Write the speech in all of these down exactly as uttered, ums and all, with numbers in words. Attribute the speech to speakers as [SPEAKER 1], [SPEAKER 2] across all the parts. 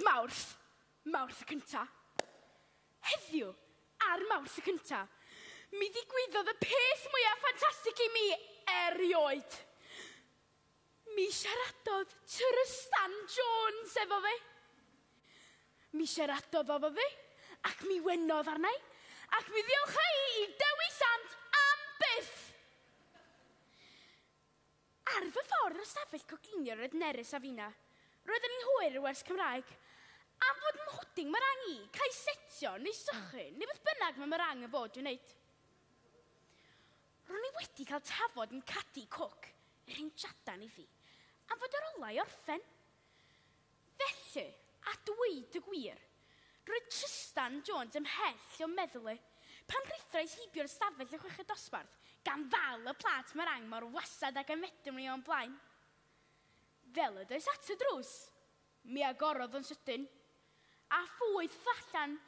[SPEAKER 1] Dydd Mawrth, Mawrth y cynta. Heddiw, ar Mawrth y cynta, mi ddigwyddodd y peth mwyaf ffantastig i mi erioed. Mi siaradodd Trystan Jones efo fi. Mi siaradodd efo fi, ac mi wenodd arna i, ac mi ddiolcha i i Dewi Sant am byth. Ar fy ffordd o'r stafell coginio roedd Nerys a finna. Roeddwn i'n hwyr i'r wers Cymraeg. Am fod mhwding marang i, cael setio neu sychu, neu beth bynnag mae marang yn fod i'w wneud. Ro'n i wedi cael tafod yn Cadi Cook, yr un jadan iddi, am fod yr olau orffen. Felly, a dweud y gwir, roedd Trystan Jones ymhell o'm meddwl i, pan rhuthrais heibio'r stafell y chweched dosbarth, gan ddal y plât marang mor wasad ag y medrwn i o'm blaen. Fel y does at y drws, mi agorodd yn sydyn, a phwyth allan,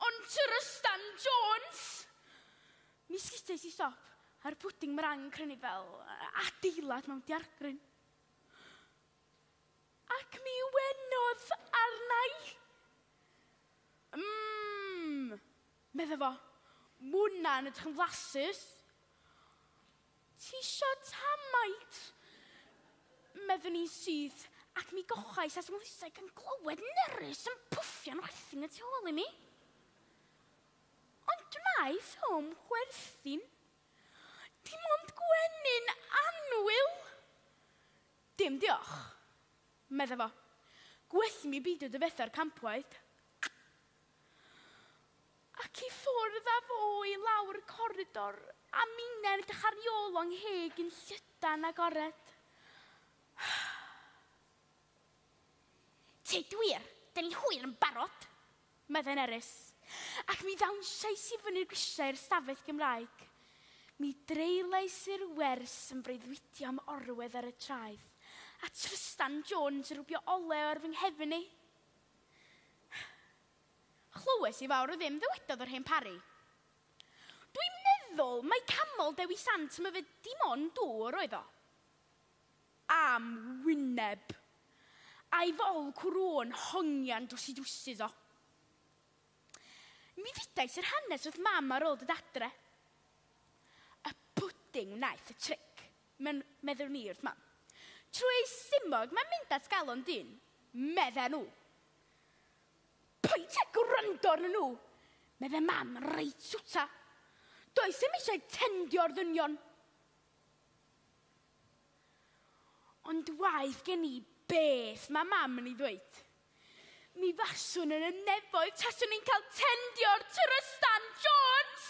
[SPEAKER 1] ond Trystan Jones! Mi sgudais i stop, a'r pwding marang yn crynu fel adeilad mewn diargryn. Ac mi wenodd arna i. Mmm, medda fo, mwna'n edrych yn flasus. Ti isio tamaid? Meddwn i'n syth, ac mi gochais at 'nglusau gan glywed Nerys yn pwffian chwerthin y tu ôl i mi. Ond wnaeth o'm chwerthin. Dim ond gwenyn annwyl. Dim diolch, medda fo. Gwell mi beidio dyfetha'r campwaith. Ac i ffwrdd â fo i lawr y coridor, a minnau'n edrych ar ei ôl o'n ngheg yn llydan agored. Tyd wir, dyn ni'n hwyr yn barod, meddai Nerys. Ac mi ddawnsiais i fyny'r grisiau i'r stafell Gymraeg. Mi dreulais i'r wers yn breuddwydio am orwedd ar y traeth, a Trystan Jones yn rwbio olew ar fy nghefn i. Chlywes i fawr o ddim ddywedodd yr hen Parry. Dwi'n meddwl mai camol Dewi Sant am yfed dim ond dŵr oedd o. Am wyneb. A'i fol cwrw'n hongian dros i drwsus o. Mi ddudais yr hanes wrth mam ar ôl dod adre. Y pwding wnaeth y tric, meddwn i wrth mam. Trwy ei simog mae'n mynd at galon dyn, medden nhw. Paid â gwrando arnyn nhw, medde mam yn reit swta. Does dim eisiau tendio'r ddynion. Ond waeth gen i beth mae mam yn ei ddweud. Mi faswn yn y nefoedd taswn i'n cael tendio'r Trystan Jones!